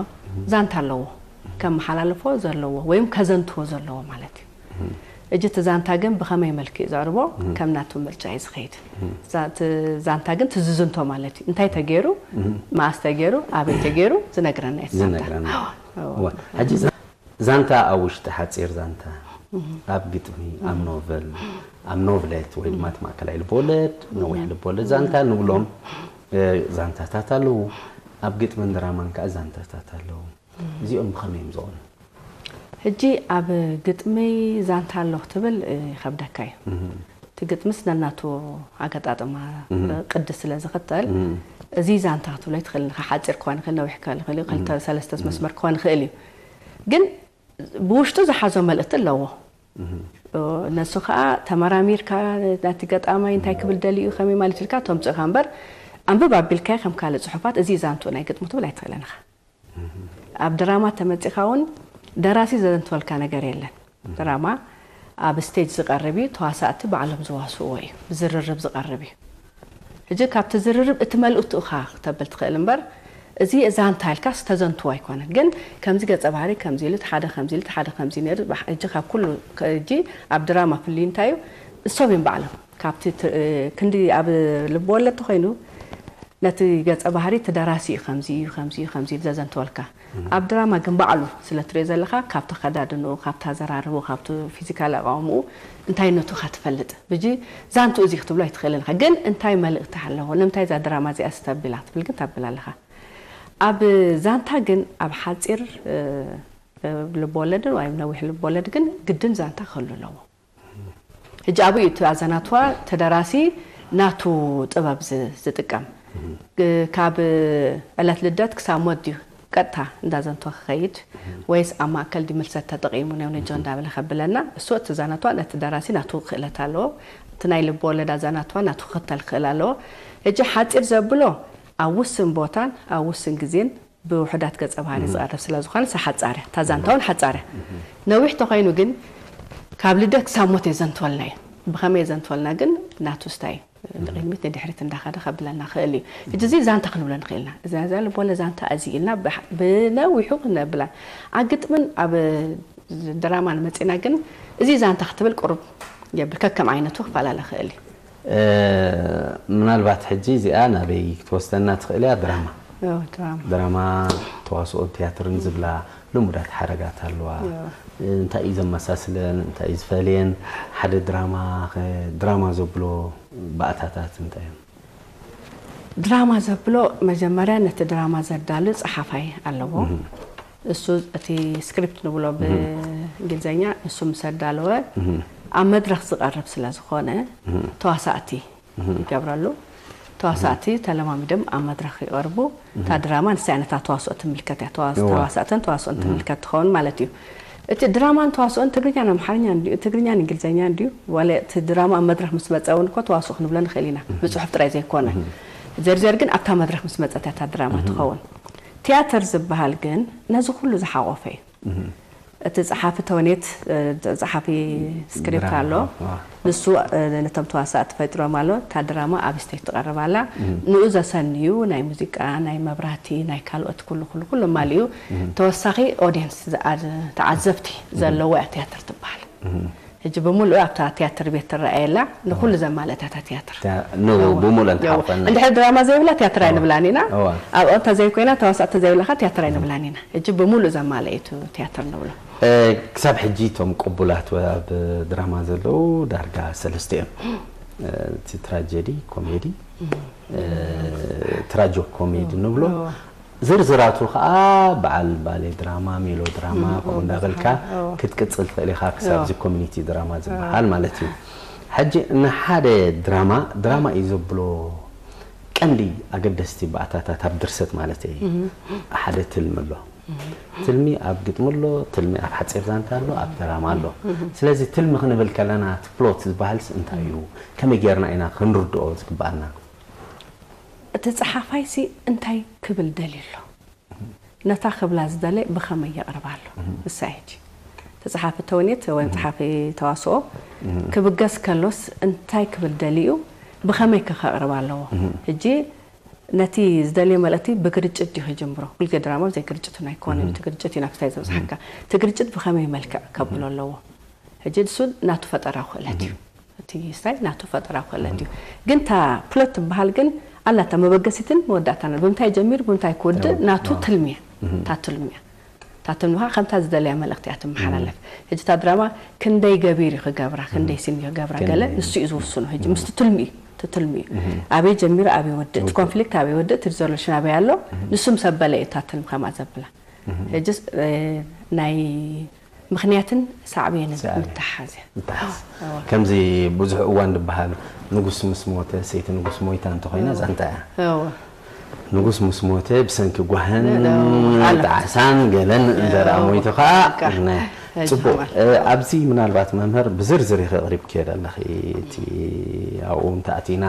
ዛንታ ኣለዎ፣ ከመሓላልፎ ዘለዎ ወይም ከዘንትዎ ዘለዎ ማለት እዩ። እጂ እቲ ዛንታ ግን ብኸመይ መልክዕ ዘቕርቦ ከም ናቱ ምርጫ እዩ ዝኸይድ። ዛ- እቲ ዛንታ ግን ትዝዝንቶ ማለት እዩ። እንታይ ተገይሩ፣ መኣስ ተገይሩ፣ ኣበይ ተገይሩ ዝነግረና እዩ እቲ ዛንታ። ዝነግረና እወ። እወ። ሕጂ ዛ- ዛንታ ኣብ ውሽጢ ሓፂር ዛንታ ኣብ ግጥሚ ኣብ ኖቨል ኣብ ኖቭሌት ወይ ድማ እቲ ማእከላይ ልብወለድ ነዊሕ ልብወለድ ዛንታ ንብሎም እ፣ ዛንታታት ኣለዉ። ኣብ ግጥምን ድራማን ከዓ ዛንታታት ኣለዉ። እዚኦም ብኸመይ እዮም ዝቐኑ? ሕጂ ኣብ ግጥሚ ዛንታ ኣሎ ክትብል እ፣ ይኸብደካ እዩ። እቲ ግጥምስ ነናቱ ኣገጣጥማ እ፣ ቅዲ ስለ ዝኽተል እዚ ዛንታ ክትብሎ ይትኽእል ኢኻ። ሓፂር ክኾን ይኽእል፣ ነዊሕ ክኾን ይኽእል እዩ፣ ክልተ ሰለስተ መስመር ክኾን ይኽእል እዩ። ግን ብውሽጡ ዝሓዞ መልእኽቲ ኣለዎ። እ፣ ነሱ ከዓ ተመራሚርካ ናቲ ገጣማይ እንታይ ክብል ደልዩ ከመይ ማለት ኢልካ ተምፅእካ እምበር ኣንብብ ኣቢልካዮ ከም ካልእ ፅሑፋት እዚ ዛንትኡ ናይ ግጥሙ ትብል ኣይትኽእልን ኢኻ። ኣብ ድራማ ተመፂኻ እውን ደራሲ ዘዘንትወልካ ነገር የለን። ድራማ ኣብ ስቴጅ ዝቐርብ እዩ፣ ተዋሳእቲ ባዕሎም ዝዋስእዎ እዩ፣ ብዝርርብ ዝቐርብ እዩ። ሕጂ ካብቲ ዝርርብ እቲ መልእኽቱ ኢኻ ክተብል ትኽእል እምበር እዚ ዛንታ ኢልካስ ተዘንትዎ ኣይኮነን። ግን ከምዚ ገጸ ባህሪ ከምዚ ኢሉ፣ እቲ ሓደ ከምዚ ኢሉ፣ እቲ ሓደ ከምዚ ነይሩ፣ ባሕ-፣ ሕጂ ካብ ኩሉ ከ-፣ ሕጂ ኣብ ድራማ ፍልዩ እንታይ እዩ? እሶም እዮም ባዕሎም። ካብቲ ት-፣ ክንዲ ኣብ ልብ ወለድ ተኾይኑ ነቲ ገጸ ባህሪ እቲ ደራሲ እዩ ከምዚ እዩ፣ ከምዚ እዩ፣ ከምዚ ኢሉ ዘዘንትወልካ። ኣብ ድራማ ግን ባዕሉ ስለ ትሪኦ ዘለኻ ካብቲ ኣኸዳድንኡ፣ ካብቲ ኣዘራርብኡ፣ ካብቲ ፊዚካል ኣቃውምኡ እንታይነቱ ኢኻ ትፈልጥ። ብጂ ዛንትኡ እዚ ክትብሎ ኣይትኽእልን ኢኻ። ግን እንታይ መልእኽቲ ኣለዎ? ንምንታይ እዛ ድራማ እዚኣ ስተቢላ ትብል ግን ተብል ኣለኻ። ኣብ ዛንታ ግን ኣብ ሓጺር እ፣ እ፣ ልብ ወለድን ወይ ነዊሕ ልብ ወለድ ግን ግድን ዛንታ ክህሉ ኣለዎ። ሕጂ ኣብኡ እዩ እቲ ኣዘናትዋ ተደራሲ ናቱ ጥበብ ዝ-፣ ዝጥቀም። እ፣ ካብ ዕለት ልደት ክሳብ ሞት ድዩ ቀጥታ እንዳዘንቶ ክኸይድ ወይስ ኣብ ማእከል ድዩ ምልሰት ተጠቒሙ ነው ነጆ እንዳበለ ከብለና? እሱ እቲ ዛናትዋ ነቲ ደራሲ ናቱ ክእለት ኣለዎ። እቲ ናይ ልብ ወለድ ኣዛናትዋ ናቱ ክኽተል ክኽእል ኣለዎ። ሕጂ ሓጺር ዘብሎ ኣብ ውስን ቦታን ኣብ ውስን ግዜን ብውሑዳት ገጸ ባህሪ ዝቐርብ ስለ ዝኾነ፣ እሳ ሓጻር እያ። እታ ዛንታ እውን ሓጻር እያ። ነዊሕ ተኾይኑ ግን ካብ ልደት ክሳብ ሞት የዘንትወልና እዩ። ብኸመይ የዘንትወልና ግን ናቱ ስታይ ንቕድሚት ንድሕሪት እንዳኸደ ከብለና ክእል እዩ። ሕጂ እዚ ዛንታ ክንብሎ ንኽእል ኢና። እዛ፣ እዛ ልቦለ ዛንታ እዚ ኢልና ብሓ-፣ ብነዊሑ ክነብላ። ኣብ ግጥምን ኣብ ድራማን መጺና ግን እዚ ዛንታ ክትብል ቁሩብ የብል፣ ከከም ዓይነቱ ክፈላለ ክእል እዩ። እ፣ ምናልባት ሕጂ እዚኣ ናበይ ክትወስደና ትኽእል እያ? ድራማ ኦ፣ ድራማ። ድራማ ተዋስኦን ቲያትርን ዝብላ ልሙዳት ሓረጋት ኣለዋ። እንታይ እዩ ዘመሳስለን እንታይ እዩ ዝፈልየን? ሓደ ድራማ ኸ ድራማ ዘብሎ ባእታታት እንታይ እዮም? ድራማ ዘብሎ መጀመርያ ነቲ ድራማ ዘዳሉ ጸሓፋይ ኣለዎ። እሱ እቲ ስክሪፕት ንብሎ ብእንግሊዝኛ፣ እሱ ምስ ኣዳለወ ኣብ መድረኽ ዝቐርብ ስለ ዝኾነ ተዋሳእቲ ይገብረሉ። ተዋሳእቲ ተለማሚዶም ኣብ መድረኽ ይቐርቡ። እታ ድራማ ንሳ ነታ ተዋስኦ ትምልከት እያ። ተዋስ- እዋ። ተዋሳእትን ተዋስኦን ትምልከት ትኸውን ማለት እዩ። እቲ ድራማን ተዋስኦን ትግርኛን ኣምሓርኛን ድዩ? ትግርኛን እንግሊዝኛን ድዩ? ዋላ እቲ ድራማ ኣብ መድረኽ ምስ መጸ እውን እኮ ተዋስኦ ክንብሎ ንኽእል ኢና። ብጽሑፍ ጥራይ ዘይኮነ። ዘርዘር ግን ኣብታ መድረኽ ምስ መጸት እያ እታ ድራማ ትኸውን። ቲያትር ዝበሃል ግን ነዚ ኩሉ ዝሓቖፈ እዩ። እቲ ጸሓፊ ተውኔት፣ እ፣ ጸሓፊ ስክሪፕት ኣሎ። ድራማ፣ ዋ። ንሱ፣ እ፣ ነቶም ተዋሳእቲ ፈጢሮም ኣሎ። እታ ድራማ ኣብ ስቴጅ ትቐርብ ኣላ። ንኡ ዘሰንዩ ናይ ሙዚቃ፣ ናይ መብራህቲ፣ ናይ ካልኦት ኩሉ፣ ኩሉ፣ ኩሉ ኣማሊኡ ተወሳኺ ኦድየንስ፣ ዝኣ-፣ ተዓዘብቲ ዘለዎ እያ ቲያትር ትበሃል። ሕጂ ብምሉእ ኣብታ ቲያትር ቤት ትረኣየላ፣ ንኹሉ ዘማልአት እያ እታ ቲያትር። ታ-፣ ን-፣ እወ። ብምሉእ እወ። እንተሓልፈና። እንድሕር ድራማ ዘይብላ ቲያትር እወ። ኣይንብላን ኢና። እወ። ኣብኣ እንተዘይኮይና፣ ተዋሳእቲ ዘይብላኻ ቲያትር ኣይንብላን ኢና። ሕጂ ብምሉእ ዘማልአ እዩ እቲ ቲያትር ንብሎ። እ፣ ክሳብ ሕጂ እቶም ቅቡላት ወ-፣ ኣብ ድራማ ዘለዉ ዳርጋ ሰለስተ እዮም። እ፣ እቲ ትራጀዲ፣ ኮሜዲ፣ እ፣ ትራጆ ኮሜዲ ንብሎ። እወ። ዝርዝራቱ ኸኣ በዓል ባሌ ድራማ፣ ሜሎ ድራማ፣ እም፣ ከምኡ እም፣ እንዳበልካ እም፣ እም። ክትቅጽል ትኽእል ኢኻ፣ ክሳብ እም። እዚ ኮሚኒቲ ድራማ ዝበሃል እም። ማለት እዩ። ሕጂ ንሓደ ድራማ፣ ድራማ እዩ ዘብሎ ቀንዲ ኣገደስቲ ባእታታት ኣብ ድርሰት ማለት እዩ። እም። ሓደ ትልሚ ኣሎ። እም። ትልሚ ኣብ ግጥሚ ኣሎ፣ ትልሚ ኣብ ሓጺር ዛንታ ኣሎ፣ ኣብ ድራማ ኣሎ። እም። ስለዚ ትልሚ ክንብል ከለና፣ እቲ ፕሎት ዝበሃልስ እንታይ እዩ? ከመይ ጌርና ኢና ክንርድኦ ዝግብኣና? እቲ ጸሓፋይሲ እንታይ ክብል ደልዩ ኣሎ? ነታ ክብላ ዝደለ ብኸመይ የቕርባ ኣሎ? እህ። ንሳ እያ ሕጂ። እቲ ጸሓፊ ተውኔት ወይ እህ። ጸሓፊ ተዋስኦ እህ። ክብገስ ከሎስ እንታይ ክብል ደልዩ፣ ብኸመይ ከ ከቕርባ ኣለዎ? እህ። ሕጂ ነቲ ዝደልዮ መልእኽቲ ብግርጭት ድዩ ክጅምሮ? ኩልጊዜ ድራማ ብዘይ ግርጭት እውን ኣይኮነን። እህ። እቲ ግርጭት እዩ ናብቲ እንታይ ዘብጽሓካ። እህ። እቲ ግርጭት ብኸመይ መልክዕ ከብሎ እህ። ኣለዎ? ሕጂ ንሱ ናቱ ፈጠራዊ ክእለት እዩ። እህ። እቲ ስታይ ናቱ ፈጠራዊ ክእለት እዩ። ግን እታ ፕሎት ትበሃል ግን ኣላታ መበገሲትን መወዳእታን። ብምንታይ ጀሚሩ፣ ብምንታይ ክውድእ፣ እዎ፣ ናቱ እዎ። ትልሚ እያ። እህ። እታ ትልሚ እያ። እታ ትልሚ ኸዓ ከምታ ዝደለያ መልእኽቲ እያ ትመሓላለፍ። እህ። ሕጂ እታ ድራማ ክንደይ ገቢር እዩ ክገብራ፣ ክንደይ እህ። ሲን እዩ ክገብራ፣ ገለ ክንደይ። ንሱ እዩ ዝውስኖ። ሕጂ እህ። ምስቲ ትልሚ እዩ፣ እቲ ትልሚ እዩ። እህ። ኣበይ ጀሚሩ፣ ኣበይ ይወድእ፣ እቲ ይወድእ። ኮንፍሊክት ኣበይ ይወድእ፣ እቲ ሪዞሉሽን ኣበይ ኣሎ፣ እህ። ንሱ ምስ ኣበለ እዩ እታ ትልሚ ከምኣ ዘብላ። እህ። ሕጂስ፣ እ፣ ናይ ምኽንያትን ሳዕቤንን ሳዕቤን። ምትሓዝ እያ። ምትሓዝ። እወ። ከምዚ ብዙሕ እዋን ዝበሃል፣ ንጉስ ምስ ሞተ፣ ሰይቲ ንጉስ ሞይታ እንተኾይና እወ። ዛንታ እያ። እወ። ንጉስ ምስ ሞተ፣ ብሰንኪ ጓህን እወ። ጣዕሳን ገለን እንተ ደኣ እወ። ሞይቱ ኸዓ፣ በቃ። ናይ፣ ሕጂ ጽቡቕ። ማለት እ፣ ኣብዚ ምናልባት መምህር ብዝርዝር ኢኺ ኣቕሪብክዮ ዘለኺ፣ እቲ ኣብኡ እንተኣቲና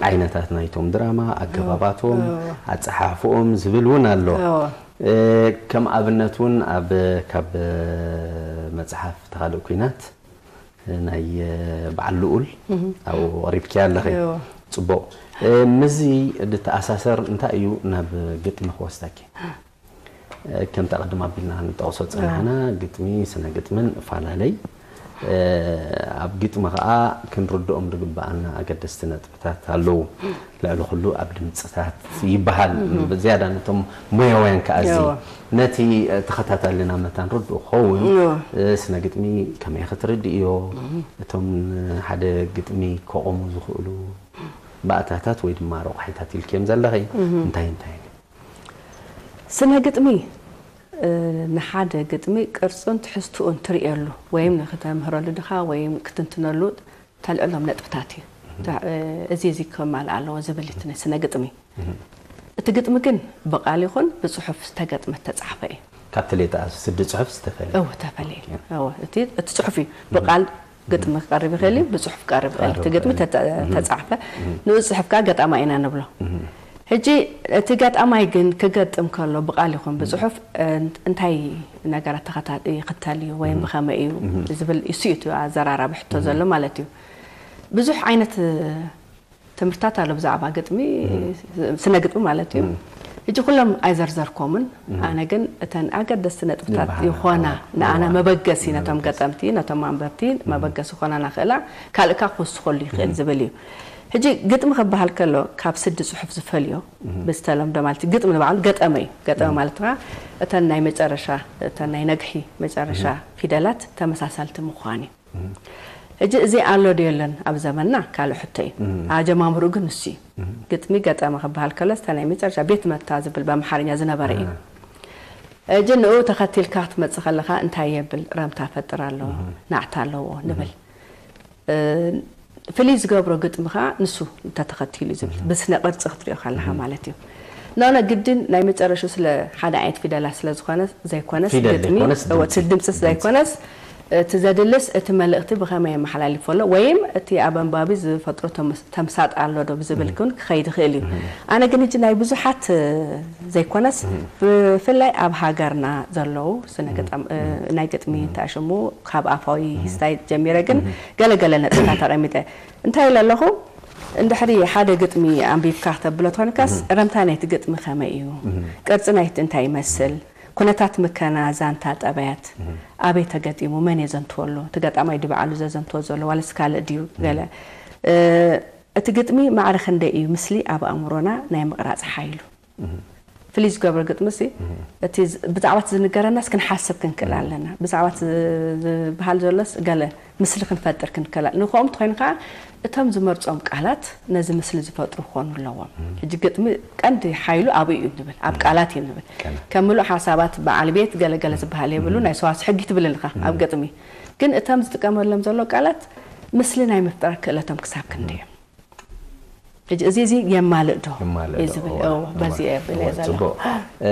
ዓይነታት ናይቶም ድራማ፣ ኣገባባቶም፣ እወ። ኣጸሓሕፍኦም ዝብል እውን ኣሎ። እወ። እ፣ ከም ኣብነት እውን ኣብ፣ ካብ መጽሓፍ ተኻልእ ኲናት ናይ በዓል ልኡል እህ። ኣብኡ ኣቕሪብክያ ኣለኺ። እዎ። ጽቡቕ። እ፣ ምስዚ ዝተኣሳሰር እንታይ እዩ ናብ ግጥሚ ክወስደኪ? እ፣ ከምቲ ቅድም ኣቢልና ንጠቕሶ ጸናሕና፣ እዎ። ግጥሚ፣ ስነ ግጥምን እፈላለይ። እ፣ ኣብ ግጥሚ ኸኣ ክንርድኦም ዝግብኣና ኣገደስቲ ነጥቢ ታት ኣለዉ። ልዕሊ ኩሉ ኣብ ድምጽታት ይበሃል። እህ። ብዝያዳ ነቶም ሞያውያን ከኣ እዚ እዎ። ነቲ ተኸታታልና መታን ርዱእ ክኸውን፣ እዎ። እ፣ ስነ ግጥሚ ከመይ ክትርድእዮ፣ እህ። እቶም ሓደ ግጥሚ ከቖሙ ዝኽእሉ ባእታታት ወይ ድማ ረቋሒታት ኢልክዮም ዘለኺ፣ እህ። እንታይ እንታይ? ስነ ግጥሚ፣ እ፣ ንሓደ ግጥሚ ቅርጹን ትሕዝትኡን ትርእየሉ ወይም ንክተምህረሉ ድኻ ወይም ክትንትነሉ ተልዕሎም ነጥብታት እዩ። እህ። ተ-፣ እ፣ እዚ፣ እዚ ከማልእ ኣለዎ ዝብል እቲ ናይ ስነ ግጥሚ። እህ። እቲ ግጥሚ ግን ብቓል ይኹን ብጽሑፍ ዝተገጥመ፣ ዝተጻሕፈ እዩ። ካብ ተሌጣ ስዲ ጽሑፍ ዝተፈለየ። እወ፣ ተፈለየ። ኦኬ። እወ፣ እቲ፣ እቲ ጽሑፍ እዩ። እህ። ብቓል ግጥሚ ክቐርብ ይኽእል እዩ፣ ብጽሑፍ ክቐርብ ይኽእል እዩ። እቲ ክቐርብ ግጥሚ ይኽእል እዩ። ተተ-፣ እህ። ተጻሕፈ። እህ። ንኡ ጽሑፍ ከኣ ገጣማይ ኢና ንብሎ። እህ። ሕጂ እቲ ገጣማይ ግን ክገጥም ከሎ ብቓል ይኹን ብጽሑፍ፣ እ፣ እንታይ ነገራት ተኸታ-፣ ይኽተል እዩ ወይም እህ። ብኸመይ እዩ እህ። ዝብል እሱ እዩ እቲ ኣዘራራቢ ሕቶ እህ። ዘሎ ማለት እዩ። ብዙሕ ዓይነት ትምህርታት ኣሎ ብዛዕባ ግጥሚ፣ እህ። ስነ ግጥሚ ማለት እዩ። እህ። ሕጂ ኩሎም ኣይዘርዘርኮምን፣ እህ። ኣነ ግን እተን ኣገደስቲ ነጥብታት ዝበሃላ፣ ይኾና፣ እዋ፣ ንኣና እዋ። መበገሲ፣ ነቶም መበገሲ። ገጠምቲ፣ ነቶም ኣንበብቲ እህ። መበገሲ ይኾናና ክእላ፣ ካልእ ከኣ ክውስኸሉ ይኽእል እህ። ዝብል እዩ። ሕጂ ግጥሚ ክበሃል ከሎ ካብ ስዲ ጽሑፍ ዝፈልዮ፣ እህ። ብዝተለምዶ ማለት እዩ፣ ግጥሚ ንባዕሉ ገጠመ እዩ። ገጠመ እህ። ማለት ከኣ እተን ናይ መጨረሻ፣ እተን ናይ ነግሒ መጨረሻ እህ። ፊደላት ተመሳሳልቲ ምዃን እዩ። እህ። ሕጂ እዚ ኣሎ ዶ የለን ኣብ ዘመንና? ካልእ ሕቶ እዩ። እህ። ኣጀማምርኡ ግን ንሱ እዩ። እህ። ግጥሚ ገጠመ ክበሃል ከሎስ እታ ናይ መጨረሻ ቤት መታ ዝብል ብኣምሓርኛ ዝነበረ እዩ። እህ። ሕጂ ንኡ ተኸቲልካ ክትመጽእ ከለኻ እንታይ የብል? ረምታ ፈጥር ኣለዎ፣ እህ። ናዕታ ኣለዎ እህ። ንብል። ፍልይ ዝገብሮ ግጥሚ ከዓ ንሱ እንተተኸቲሉ ዝብል ብስነ ቅርፂ ክትሪኦ ከለካ ማለት እዩ። ኖነ ግድን ናይ መጨረሹ ስለ ሓደ ዓይነት ፊደላት ስለ ዝኾነ ዘይኮነስ ግጥሚ እቲ ድምፅስ ዘይኮነስ እቲ ዘድልስ እቲ መልእኽቲ ብኸመይ የመሓላልፎ ኣሎ ወይም እቲ ኣብ ኣንባቢ ዝፈጥሮ ተምሳጥ ኣሎ ዶ ብዝብል ክን ክኸይድ ይኽእል እዩ። ኣነ ግን ሕጂ ናይ ብዙሓት ዘይኮነስ ብፍላይ ኣብ ሃገርና ዘለዉ ናይ ግጥሚ እንታይ ሽሙ ካብ ኣፋዊ ሂስታይ ጀሚረ ግን ገለገለ ነጥብታት ኣቐሚጠ እንታይ ኢለ ኣለኹ? እንድሕሪ ሓደ ግጥሚ ኣንቢብካ ክተብሎ ትኾንካስ ረምታ ናይቲ ግጥሚ ከመይ እዩ? ቅርፂ ናይቲ እንታይ ይመስል? ኩነታት ምከና ዛንታ ጠባያት ኣበይ ተገጢሙ መን የዘንትወሉ? እቲ ገጣማይ ድዩ ባዕሉ ዘዘንትዎ ዘሎ ዋለስ ካልእ ድዩ? ገለ እቲ ግጥሚ ማዕረ ክንደይ እዩ ምስሊ ኣብ ኣእምሮና ናይ ምቕራፅ ሓይሉ? ፍልይ ዝገብሮ ግጥሚ ሲ እቲ ብዛዕባ እቲ ዝንገረናስ ክንሓስብ ክንክእል ኣለና። ብዛዕባ እቲ ዝበሃል ዘሎስ ገለ ምስሊ ክንፈጥር ክንክእል ኣለና። ንኸኦም እንተኾይኑ ከዓ እቶም ዝመርፆም ቃላት ነዚ ምስሊ ዝፈጥሩ ክኾኑ ኣለዎም። ሕጂ ግጥሚ ቀንዲ ሓይሉ ኣብኡ እዩ ንብል፣ ኣብ ቃላት እዩ ንብል። ከም ምሉእ ሓሳባት በዓል ቤት ገለገለ ዝበሃል የብሉ፣ ናይ ሰዋስ ሕጊ ትብል ኣለኻ ኣብ ግጥሚ። ግን እቶም ዝጥቀመሎም ዘሎ ቃላት ምስሊ ናይ ምፍጣር ክእለቶም ክሳብ ክንደይ እዮም? ሕጂ እዚ እዚ የማልእ ዶ የማልእ እዩ ዶ? ዝብል እዎ፣ እዎ፣ በዚ እየ ብል እዎ፣ እየ ዘለኹ። ጽቡቕ። እ፣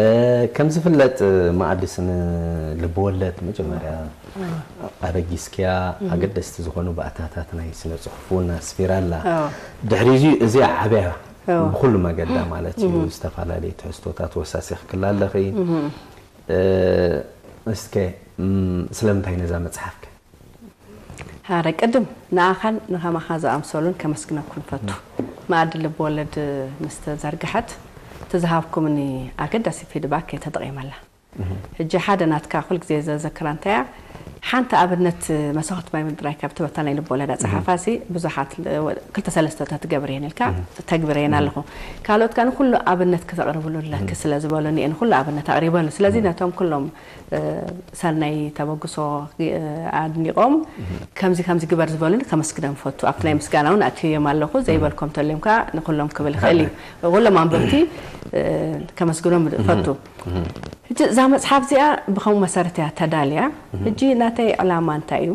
ከም ዝፍለጥ፣ መኣድስ ንልብወለድ መጀመርያ ኣበጊስክያ ኣገደስቲ ዝኾኑ ባእታታት ናይ ስነ ጽሑፍ እውን ኣስፊራ ኣላ። እዎ። ድሕሪ እዚ እዚኣ ዓብያ እዎ። ብኹሉ መገዳ ማለት እዩ። እዎ። ዝተፈላለዩ ትሕዝቶታት ወሳሲኽክላ ኣለኺ። እዎ። እ፣ እስከ፣ እም፣ ስለምንታይ ነዛ መጽሓፍከ? ሃረ ቅድም ንኣኻን ንኸማኻ ዝኣምሰሉን ከመስግነኩም ፈቱ። መኣዲ ልብ ወለድ ምስ ተዘርግሐት እቲ ዝሃብኩምኒ ኣገዳሲ ፊድባክ እየ ተጠቒመላ። ሕጂ ሓደ ናትካ ኩል ግዜ ዘዘክራ እንታያ ሓንቲ ኣብነት መሳኹት ማይ ምድራይ ካብ ትበታ ናይ ልብ ወለድ ኣጸሓፋሲ ብዙሓት ል-፣ ወ-፣ ክልተ ሰለስተ ተትገብር እየን ኢልካ ተግብር እየን ኣለኹ። ካልኦት ከኣ ንኹሉ ኣብነት ክተቕርብሉ ኣለኪ ስለ ዝበሉኒ እየ ንኹሉ ኣብነት ኣቕሪበሉ። ስለዚ ነቶም ኩሎም ሰናይ ተበግሶ ኣድኒቖም ከምዚ ከምዚ ግበር ዝበሉኒ ከመስግኖም ፈቱ። ኣብቲ ናይ ምስጋና እውን ኣእትዮም ኣለኹ። ዘይበልኮም ተልዮም ከዓ ንኩሎም ክብል ይኽእል እዩ። ኩሎም ኣንበብቲ ከመስግኖም ፈቱ። ሕጂ እዛ መፅሓፍ እዚኣ ብኸምኡ መሰረት እያ ተዳልያ። ሕጂ ናተይ ዕላማ እንታይ እዩ?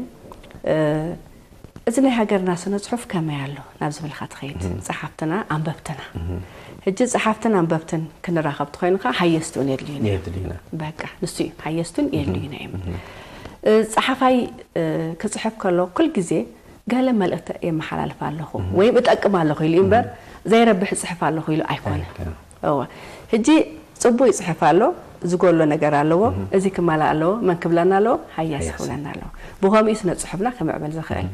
እዚ ናይ ሃገርና ስነ ጽሑፍ ከመይ ኣሎ ናብ ዝብልካ ትኸይድ። ጸሓፍትና ኣንበብትና። ሕጂ ጸሓፍትን ኣንበብትን ክንራኸብ ትኾይኑ ከዓ ሃየስቲ እውን የድልዩና እዮም። የድልዩና። በቃ ንሱ እዩ። ሃየስቱን የድልዩና እዮም። እ፣ ጸሓፋይ፣ እ፣ ክጽሕፍ ከሎ ኩል ግዜ ገለ መልእኽቲ የመሓላልፍ ኣለኹ ወይም እጠቅም ኣለኹ ኢሉ እምበር ዘይረብሕ እጽሕፍ ኣለኹ ኢሉ ኣይኮነን። ኣይኮነን። እወ። ሕጂ ጽቡቕ ይጽሕፍ ኣሎ፣ ዝጎሎ ነገር ኣለዎ፣ እዚ ክማላእ ኣለዎ፣ መን ክብለና ኣለዎ? ሃያሲ ሃያሲ። ክብለና ኣለዎ። ብኸምኡ እዩ ስነ ጽሑፍና ክምዕብል ዝኽእል።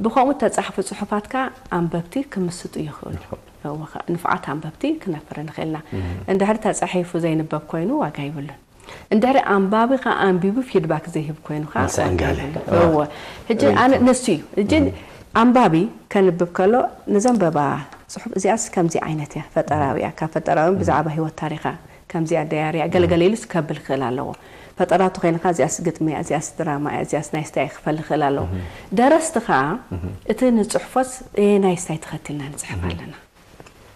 ብኸምኡ እተጻሕፉ ጽሑፋት ከኣ ኣንበብቲ ክምስጡ ይኽእሉ። ይኽእሉ። እወ፣ ከ-፣ ንፉዓት ኣንበብቲ ክነፍሪ ንኽእልና። እንድሕሪ ተጻሒፉ ዘይንበብ ኮይኑ ዋጋ ይብሉን። እንድሕሪ ኣንባቢ ከኣ ኣንቢቡ ፊድባክ ዘይህብ ኮይኑ ከኣ ዋጋ ምስዕንጋለ። ይብሉን። እወ። እወ። ሕጂ ኣነ ርእይቶ። ንሱ እዩ። ሕጂ ኣንባቢ ከንብብ ከሎ ንዘንበባ ጽሑፍ እዚኣስ ከምዚ ዓይነት እያ፣ ፈጠራዊ እያ፣ ካብ ፈጠራዊ እውን ብዛዕባ ህይወት ታሪኻ ከምዚኣ ደያርያ ገለገለ ኢሉስ ከብል ክኽእል ኣለዎ። ፈጠራቱ ኮይንካ እዚኣስ ግጥሚ እያ፣ እዚኣስ ድራማ እያ፣ እዚኣስ ናይ ስታይ ክፈል ይኽእል ኣለዎ። ደረስቲ ከኣ እቲ ንጽሕፎስ ናይ ስታይ ተኸቲልና ንጽሕፍ ኣለና።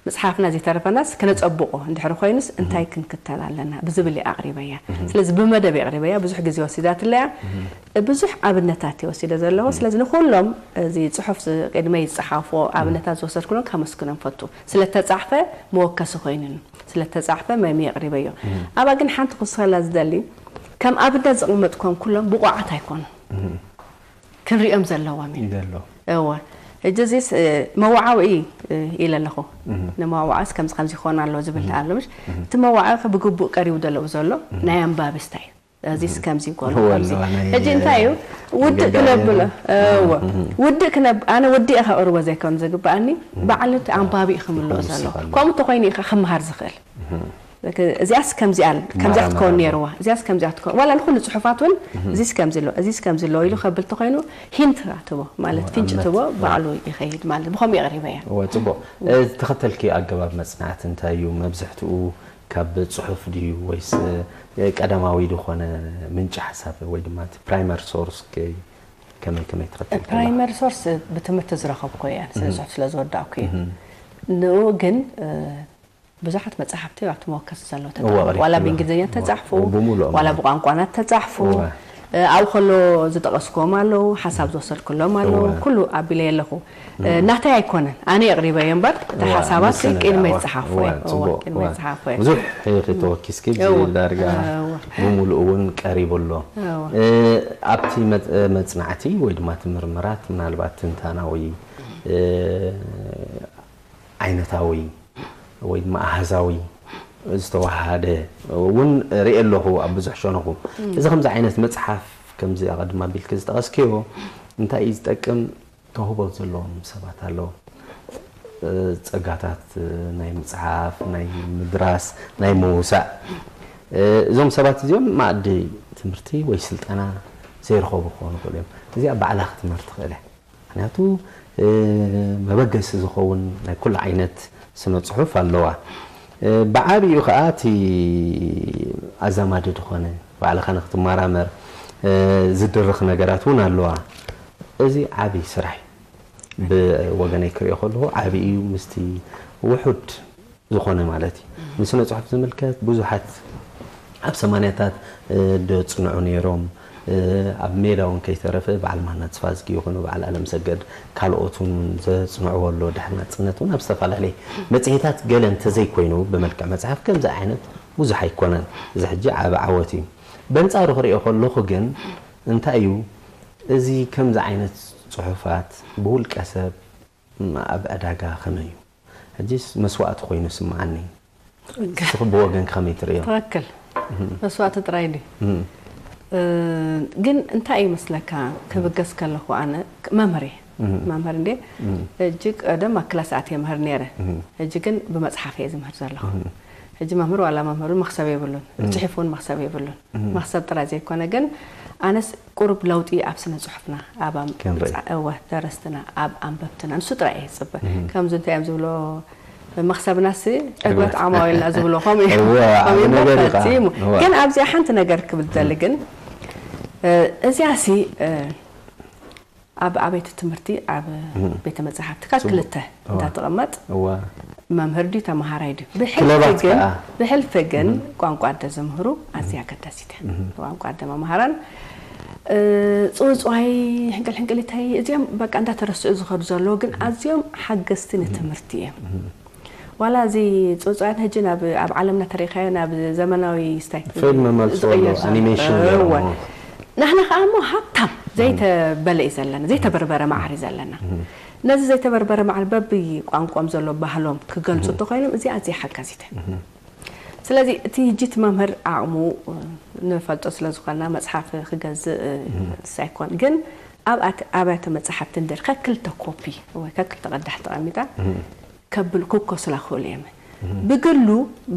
መጽሓፍና ዘይተረፈናስ ክነጸብቆ እንድሕሪ ኮይኑስ እንታይ ክንክተል ኣለና ብዝብል እየ ኣቕሪበያ። ስለዚ ብመደብ የቕሪበያ፣ ብዙሕ ግዜ ወሲዳትለያ። ብዙሕ ኣብነታት እየ ወሲደ ዘለኹ። ስለዚ ንኹሎም እዚ ጽሑፍ ዝ-፣ ቅድመይ ዝጸሓፍዎ ኣብነታት ዝወሰድኩሎም ከመስግኖም ፈቱ። ስለ ተጻሕፈ መወከሲ ኮይኑኒ። ስለ ተጻሕፈ መሚ የቕሪበዮ። ኣብኣ ግን ሓንቲ ክውስኸላ ዝደሊ፣ ከም ኣብነት ዘቕመጥኮም ኩሎም ብቑዓት ኣይኮኑን። ክንሪኦም ዘለዎም እዩ። ይደሎ። እወ። ሕጂ እዚስ፣ እ፣ መዋዓውዒ፣ እ፣ ኢለ ኣለኹ። ንመዋዓውዒስ ከምዚ ከምዚ ይኾን ኣሎ ዝብል ኣሎ፣ ምሽ? እቲ መዋዓውዒ ብግቡእ ቀሪቡ ደለዉ ዘሎ ናይ ኣንባቢ ስታይ እዩ። እዚስ ከምዚ ይጎሎ፣ እወ፣ ከምዚ። ኣለዋ ናይ ሕጂ እንታይ እዩ? ውድእ ገጋሪ ክነብሎ፣ እወ። ውድእ ክነብ-፣ ኣነ ወዲኤ ከቕርቦ ዘይኮን ዝግብኣኒ፣ ባዕሉ እቲ ኣንባቢ እዩ ክምልኦ ክምልስ ዘሎ። ኣሎ። ከምኡ እንተኾይኑ እዩ ከ ክመሃር ዝኽእል። እዚኣስ ከምዚኣ፣ ከምዚኣ ክትከውን ነይርዋ፣ እዚኣስ ከምዚኣ ክትከውን። ዋላ ንኹሉ ጽሑፋት እውን እዚስ ከምዚ ኣሎ፣ እዚስ ከምዚ ኣሎ ኢሉ ከብል ተኾይኑ ሂንት ትቦ፣ ማለት እወ፣ ፍንጭ ኣብነት። ትቦ፣ እወ። ባዕሉ ይኸይድ ማለት። ብኸምኡ የቕሪበያ። እወ፣ ጽቡቕ። እ፣ ዝተኸተልኪ ኣገባብ መጽናዕቲ እንታይ እዩ? መብዝሕትኡ ካብ ጽሑፍ ድዩ ወይስ፣ እ፣ ቀዳማዊ ዝኾነ ምንጪ ሓሳብ ወይ ድማ እቲ ፕራይመር ሶርስ ከ-፣ ከመይ፣ ከመይ ትኸተልኪ ኣለኺ? ፕራይመር ሶርስ ብትምህርቲ ዝረኸብኩ እየ፣ ስነ ጽሑፍ ስለ ዝወዳእኩ እዩ። ንኡ ግን፣ እ፣ ብዙሓት መጻሕፍቲ ኣብቲ መወከሲ ዘለዉ እወ፣ ተጻሕፉ። ቀሪብቲ ዋላ ኣለዋ። ብእንግሊዝኛ እወ፣ ተጻሕፉ፣ እወ፣ ብምሉኦም ዋላ እወ። ብቋንቋና ተጻሕፉ። እወ። ኣብኡ ከሎ ዝጠቐስክዎም ኣለዉ፣ ሓሳብ ዝወሰድክሎም ኣለዉ፣ ኩሉ ኣቢለየ ኣለኹ። ናተይ ኣይኮነን፣ ኣነ የቕሪበዮ እምበር፣ እቲ ሓሳባት ቅድመ ይጸሓፎ እየ። ቅድመ ይጸሓፎ እየ። ብዙሕ ኢኺ ተወኪስኪ፣ ዳርጋ ብምሉእ እውን ቀሪቡ ኣሎ። ኣብቲ መጽናዕቲ ወይ ድማ እቲ ምርምራት ምናልባት ትንታናዊ ዓይነታዊ ወይ ድማ ኣሃዛዊ ዝተዋሃደ እውን ርኢ ኣለኹ ኣብ ብዙሕ ሸነኹ። እዚ ከምዚ ዓይነት መጽሓፍ ከምዚ ኣቐድም ኣቢልኪ ዝጠቐስክዮ እንታይ እዩ ዝጠቅም? ተውህቦ ዘለዎም ሰባት ኣለዉ። ጸጋታት ናይ ምጽሓፍ፣ ናይ ምድራስ፣ ናይ ምውሳእ እዞም ሰባት እዚኦም ማእዲ ትምህርቲ ወይ ስልጠና ዘይረኸቡ ክኾኑ ይኽእሉ እዮም። እዚኣ ባዕላ ክትምህር ትኽእል እያ። ምክንያቱ መበገሲ ዝኸውን ናይ ኩሉ ዓይነት ስነ ፅሑፍ ኣለዋ። ብዓብኡ ከዓ እቲ ኣዛማዲ ዝኾነ ባዕልኻ ንክትመራመር ዝድርኽ ነገራት እውን ኣለዋ። እዚ ዓብዪ ስራሕ እዩ። ብወገነይ ክሪኦ ከለኹ ዓብዪ እዩ ምስቲ ውሑድ ዝኾነ ማለት እዩ። ንስነ ጽሑፍ ዝምልከት ብዙሓት ኣብ ሰማንያታት ደጽንዑ ነይሮም። ኣብ ሜዳ እውን ከይተረፈ በዓል ማና ተስፋዝጊ ይኹኑ በዓል ኣለምሰገድ ካልኦትን እውን ዘጽንዕዎ ኣሎ። ድሕሪ ናጽነት እውን ኣብ ዝተፈላለየ መጽሔታት ገለ እንተዘይኮይኑ ብመልክዕ መጽሓፍ ከምዚ ዓይነት ብዙሕ ኣይኮነን። እዚ ሕጂ ዓቢ ዓወት እዩ። በንጻሩ ክሪኦ ከለኹ ግን እንታይ እዩ እዚ ከምዚ ዓይነት ጽሑፋት ብውልቀ ሰብ ኣብ ዕዳጋ ከመይ እዩ? ሕጂስ መስዋእቲ ኮይኑ ይስምዓኒ። ንስኺ ብወገንኪ ከመይ ትርእዮ? ትኽክል። መስዋእቲ ጥራይ ድዩ? ግን እንታይ እዩ መስለካ ክብገስ ከለኹ ኣነ መምህር እየ። መምህር እንዴ ሕጂ ቀደም ኣብ ክላስ ኣትየ ምህር ነይረ። ሕጂ ግን ብመፅሓፍ እየ ዝምህር ዘለኹ። ሕጂ መምህር ዋላ መምህር እውን መኽሰብ የብሉን። ፅሒፍ እውን መኽሰብ የብሉን። መኽሰብ ጥራይ ዘይኮነ ግን ኣነስ ቁሩብ ለውጢ ኣብ ስነ ጽሑፍና ኣብ ኣም- ከንርኢ። ብጻ- እወ ደረስትና ኣብ ኣንበብትና ንሱ ጥራይ እየ ዝጽበ ከምዚ እንታይ እዮም ዝብሎ መኽሰብናሲ ዕግበት ዓማዊልና ዝብሎ ከምኡ እዩ እወ፣ ዓቢ ከምኡ እዩ ነገር እዩ ከዓ። ፈጺሙ እወ። ግን ኣብዚኣ ሓንቲ ነገር ክብል ዝደሊ ግን እ፣ እዚኣሲ እ፣ ኣብ ኣብያተ ትምህርቲ ኣብ ቤተ መጻሕፍቲ ካብ ጽቡቅ። ክልተ እዋ። እንዳተቐመጥ እዋ። መምህር ድዩ ተመሃራይ ድዩ ብሕልፊ ክለባት ግን ከዓ። ብሕልፊ ግን ቋንቋ ኣደ ዘምህሩ ኣዝያ ኣገዳሲት እያ ቋንቋ ኣደ መምሃራን እ፣ ጽውጽዋይ ሕንቅል ሕንቅሊተይ እዚኦም በቃ እንዳተረስዑ ዝኸዱ ዘለዉ ግን ኣዝዮም ሓገዝቲ ንትምህርቲ እዮም ዋላ እዚ ጽውጽዋያት ሕጂ ናብ ኣብ ዓለምና ተሪኻዮ ናብ ዘመናዊ ስታይ ፊልም መልክዑ ኣሎ፣ ዝቕየር ዘሎ። ኣኒሜሽን ገይሮሞ። እወ። ንሕና ከዓ እሞ ሃብታም ዘይተበለ እዩ ዘለና ዘይተበርበረ ማዕሪ ዘለና ነዚ ዘይተበርበረ ማዕሪ በቢ ቋንቋም ዘሎ ባህሎም ክገልፁ እንተኮይኖም እዚ ኣዝየ ሓጋዚተ ስለዚ እቲ ህጂ እቲ መምህር ዓቕሙ ንፈልጦ ስለ ዝኾንና መፅሓፍ ክገዝእ ሳይኮን ግን ኣብ ኣብያተ መፅሓፍቲ እንድር ከክልተ ኮፒ ወይ ከክልተ ቀዳሕ ተቐሚጣ ከብል ክኮስላ ክኽእሉ እዮም ብግሉ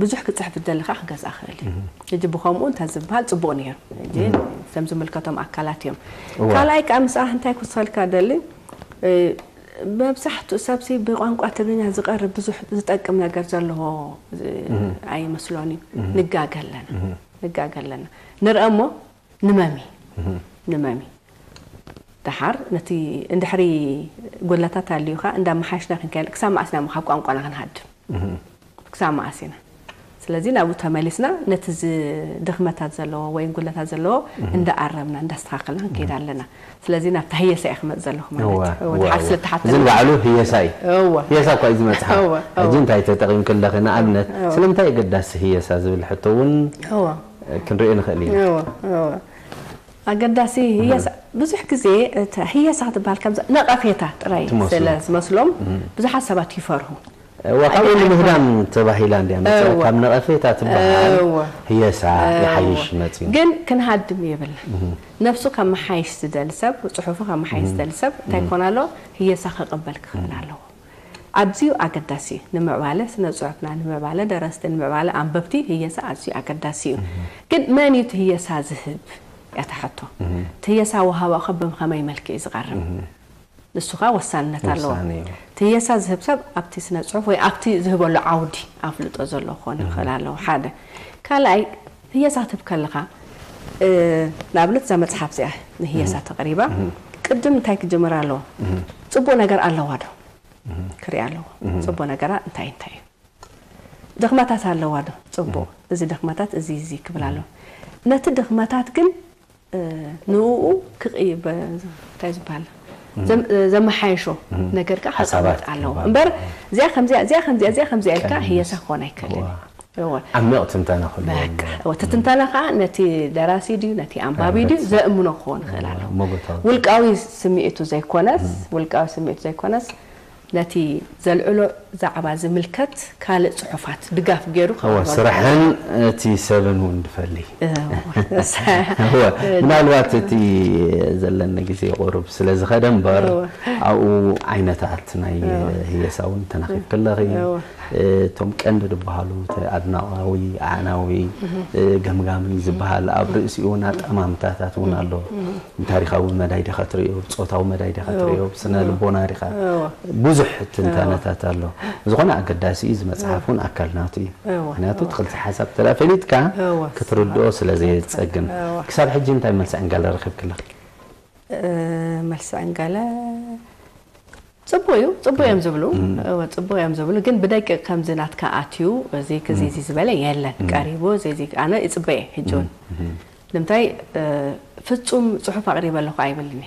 ብዙሕ ክፅሕፍ ዝደሊ ከዓ ክገዝኣ ክእል እዩ ሕጂ ብከምኡ እንተ ዝበሃል ፅቡቅ ነይሩ ሕጂ ከም ዝምልከቶም ኣካላት እዮም ካልኣይ ከዓ ምስኣ እንታይ ክወስኸልካ ደሊ መብዛሕትኡ ሰብሲ ብቋንቋ ትግርኛ ዝቐርብ ብዙሕ ዝጠቅም ነገር ዘለዎ ኣይመስሎን እዩ ንጋገ ኣለና ንጋገ ኣለና ንርአ እሞ ንመሚ ንመሚ ደሓር ነቲ እንድሕሪ ጎድለታት ኣልዩ ከዓ እንዳመሓሽና ክንከይድ ክሳብ መዓስ ኢና ካብ ቋንቋና ክንሃድም ክሳብ መዓስ ኢና ስለዚ ናብኡ ተመሊስና ነቲ ድኽመታት ዘለዎ ወይ ጉድለታት ዘለዎ እንዳኣረምና እንዳስተኻኸልና ክንከይድ ኣለና ስለዚ ናብታ ህየሳ እየ ክመፅ ዘለኹ ማለት እቲ ሓስለ ተሓተ እዚ ንባዕሉ ህየሳ እዩ ህየሳ እኳ እዩ ዝመፅሓ ሕጂ እንታይ ተጠቂምክ ኣለኺ ንኣብነት ስለምንታይ ኣገዳሲ ህየሳ ዝብል ሕቶ እውን ክንሪኦ ንኽእል ኢና ኣገዳሲ ህየሳ ብዙሕ ግዜ ህየሳ ክትበሃል ከም ነቐፌታ ጥራይ ስለ ዝመስሎም ብዙሓት ሰባት ይፈርሁ እዋ ካብኡ ንምህዳም ተባሂላ እንድያ መፅያ ካብ ነቐፌታ ትበሃል ህየሳ ይሓይሽ መፅዩ ግን ክንሃድም የብልና ነብሱ ከመሓይሽ ዝደሊ ሰብ ፅሑፉ ከመሓይሽ ዝደሊ ሰብ እንታይ ኮን ኣሎ ህየሳ ክቕበል ክኽእል ኣለዎ ኣዝዩ ኣገዳሲ እዩ ንምዕባለ ስነ ፅሑፍና ንምዕባለ ደረስቲ ንምዕባለ ኣንበብቲ ህየሳ ኣዝዩ ኣገዳሲ እዩ ግን መን እዩ ህየሳ ዝህብ እያ ተሕቶ ህየሳ ወሃባኡ ከ ብከመይ መልክዕ እዩ ዝቐርብ ንሱ ከዓ ወሳንነት ኣለዎ ህየሳ ዝህብ ሰብ ኣብቲ ስነ ፅሑፍ ወይ ኣብቲ ዝህበሉ ዓውዲ ኣፍልጦ ዘሎ ክኾን ይኽእል ኣለዎ ሓደ ካልኣይ ህየሳ ክትህብ ከለኻ ንኣብነት እዛ መፅሓፍ እዚኣ ንህየሳ ተቕሪባ ቅድም እንታይ ክጅምር ኣለዎ ፅቡቅ ነገር ኣለዋ ዶ ክርኢ ኣለዎ ፅቡቅ ነገራ እንታይ እንታይ እዩ ድኽመታት ኣለዋ ዶ ፅቡቅ እዚ ድኽመታት እዚ እዚ ክብል ኣለዎ ነቲ ድኽመታት ግን ንኡ እንታይ ዝበሃል ዘመሓየሾ ነገር ከዓ ሓሳባት ኣለዎ እምበር እዚኣ ከምዚኣ እዚኣ ከምዚኣ እዚኣ ከምዚኣ ኢልካ ህየሳ ክኾን ኣይክእልን። ዓሚቕ ትንተና ክህልዎ እቲ ትንተና ከዓ ነቲ ደራሲ ድዩ ነቲ ኣንባቢ ድዩ ዘእምኖ ክኾን ይኽእል ኣሎ። ውልቃዊ ስምዒቱ ዘይኮነስ ውልቃዊ ስምዒቱ ዘይኮነስ ነቲ ዘልዕሎ ዛዕባ ዝምልከት ካልእ ጽሑፋት ድጋፍ ገይሩ ስራሕን እቲ ሰብን እውን ድፈሊ። ምናልባት እቲ ዘለኒ ግዜ ቁሩብ ስለ ዝኸደ እምበር ኣብኡ ዓይነታት ናይ ህየሳ እውን ተናኺፍ ከለኺ እቶም ቀንዲ ዝበሃሉ ኣድናቓዊ፣ ኣዕናዊ፣ ገምጋሚ ዝበሃል ኣብ ርእሲኡ እውን ኣጠማምታታት እውን ኣሎ። ብታሪኻዊ መዳይ ዲኻ ትርእዮ፣ ብጾታዊ መዳይ ዲኻ ትርእዮ፣ ብስነ ልቦና ዲኻ ብዙሕ ትንታነታት ኣሎ። ዝኾነ ኣገዳሲ እዩ፣ እዚ መጽሓፍ እውን ኣካል ናቱ እዩ። ምክንያቱ እቲ ክልተ ሓሳብ ተላ ፈሊጥካ ክትርድኦ ስለ ዘየጸግም። ክሳብ ሕጂ እንታይ መልሲ ዕንጋለ ረኺብክለኺ? መልሲ ዕንጋለ ጽቡቅ እዩ ጽቡቅ እዮም ዝብሉ ጽቡቅ እዮም ዝብሉ ግን ብደቂቅ ከምዚ ናትካ ኣትዩ እዚ ክዚ እዚ ዝበለ የለን ቀሪቡ እዚ እዚ ኣነ ይጽበየ ሕጂ እውን ንምንታይ ፍጹም ጽሑፍ ኣቅሪበ ኣለኹ ኣይብልኒ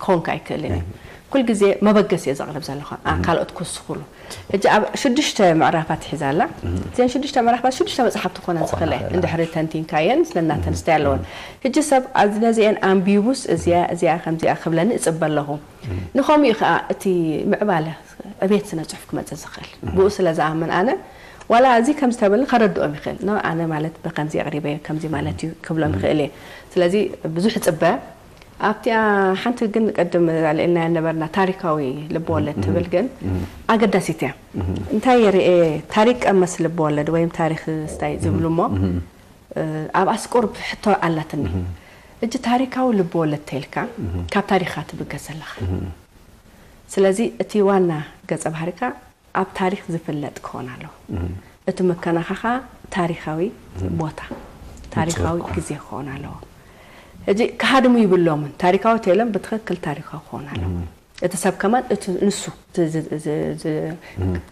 ክኾንካ ኣይክእልን እዩ ኩል ግዜ መበገስ እየ ዘቅርብ ዘለኹ ካልኦት ክውስኹሉ ሕጂ ኣብ ሽዱሽተ ምዕራፋት ሒዛ ኣላ እዘን ሽዱሽተ ምዕራፋት ሽዱሽተ መጽሓፍቲ ክኾነ ዝኽእለ እንድሕሪ ተንቲንካየን ስለናተን ስታይ ኣለወን ሕጂ ሰብ ነዚአን ኣንቢቡስ እዚኣ እዚኣ ከምዚኣ ክብለኒ እጽበ ኣለኹ ንኸምኡ ከዓ እቲ ምዕባለ ዕቤት ስነ ፅሑፍ ክመፅእ ዝኽእል ብኡ ስለ ዝኣምን ኣነ ዋላ እዚ ከምዚ ተበልኒ ከረድኦም ይኽእል ኖ ኣነ ማለት ብከምዚ ኣቕሪበ ከምዚ ማለት እዩ ክብሎም ይኽእል እየ ስለዚ ብዙሕ ፅበ ኣብቲኣ ሓንቲ ግን ቅድም ኣልዒልና ነበርና ታሪካዊ ልብወለድ ትብል ግን ኣገዳሲት እያ እንታይ የርኤ ታሪክ ቀመስ ልብወለድ ወይም ታሪክ ስታይ ዝብሉ እሞ ኣብ ኣስቆር ሕቶ ኣላትኒ እጂ ታሪካዊ ልብወለድ ተይልካ ካብ ታሪክካ ትብገስ ዘለካ ስለዚ እቲ ዋና ገጸ ባህሪካ ኣብ ታሪክ ዝፍለጥ ክኾን ኣለዎ እቲ መከናኻኻ ታሪካዊ ቦታ ታሪካዊ ግዜ ክኾን ኣለዎ እጂ ክሃድሙ ይብሎምን ታሪካዊ ተይሎም ብትክክል ታሪካዊ ክኾን ኣለዎ እቲ ሰብ ከማን እቲ ንሱ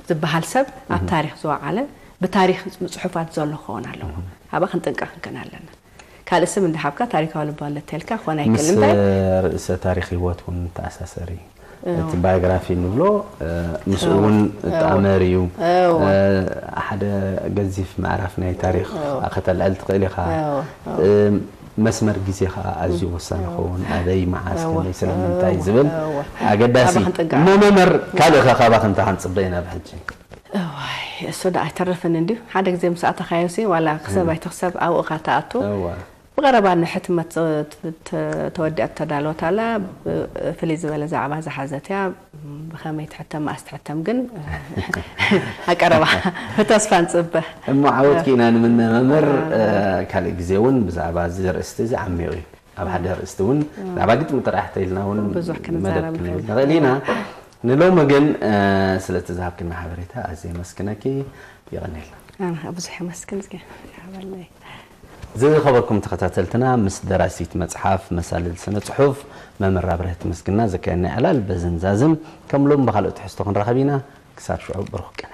ዝበሃል ሰብ ኣብ ታሪክ ዝወዓለ ብታሪክ ጽሑፋት ዘሎ ክኸውን ኣለዎ። ሃባ ክንጥንቀቅ ክንክን ኣለና። ካልእ ስም እንዳሃብካ ታሪካዊ ልቦለድ ተልካ ክኾን ኣይክእል እንታይ ርእሰ ታሪክ ህይወት እውን ተኣሳሰሪ እቲ ባዮግራፊ ንብሎ ምስኡ እውን ጣመር እዩ ሓደ ገዚፍ ምዕራፍ ናይ ታሪክ ከተልዕል ትኽእል ኢኻ መስመር ግዜ ከዓ ኣዝዩ ወሳኒ ክኸውን ኣበይ መዓስ ከመይ ስለምንታይ ዝብል ኣገዳሲ መመመር ካልእ ከ ካባክ እንታይ ክንፅበ ኢና ብሕጂ እዋይ እሱ ዳ ኣይተርፍን እንድዩ ሓደ ግዜ ምስ ኣተኻዮ ሲ ዋላ ክሰብ ኣይትኽሰብ ኣብኡ ካ ተኣቱ ብቐረባ ንሕትመት ተወዲኣ ተዳለወት ኣላ ፍልይ ዝበለ ዛዕባ ዝሓዘት እያ ብኸመይ ትሕተም መኣስ ትሕተም ግን ኣቀረባ ብተስፋ ንፅበ እሞ ዓወት ኪና ንምነ መምህር ካልእ ግዜ እውን ብዛዕባ እዚ ርእስቲ እዚ ዓሚቕ እዩ ኣብ ሓደ ርእስቲ እውን ብዛዕባ ግጥሚ ጥራሕ ተኢልና እውን ብዙሕ ክንዛረብ ንኽእል ኢና ንሎሚ ግን ስለቲ ዝሃብክና ሓበሬታ ኣዝየ የመስግነኪ የቐንየልና ኣነ ብዙሕ የመስግን ዝገበለይ ዝኸበርኩም ተኸታተልትና ምስ ደራሲት መፅሓፍ መሳልል ስነ ፅሑፍ መምህር ኣብርሀት ምስግና ዘካየድና ዕላል በዝን ዛዝም ከም ሎም ብካልኦ ትሕዝቶ ክንራኸብ ኢና ክሳብ ሽዑ ብሩኽ ቅነ